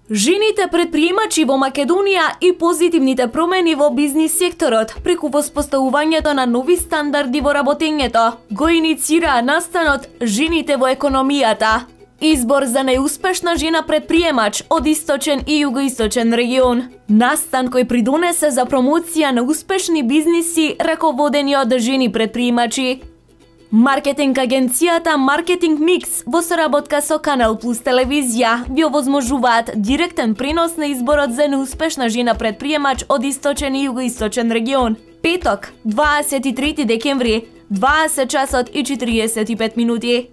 Жените предприемачи во Македонија и позитивните промени во бизнис секторот преку воспоставувањето на нови стандарди во работењето го иницираа настанот Жените во економијата. Избор за најуспешна жена предприемач од источен и југоисточен регион. Настан кој придонесе за промоција на успешни бизниси раководени од жени предприемачи. Маркетинг агенцијата Маркетинг Микс во соработка со Канал Плюс телевизија ви овозможуваат директен пренос на изборот за неуспешна жена предприемач од источен и југоисточен регион. Петок, 23 декември, 20 часот и 45 минути.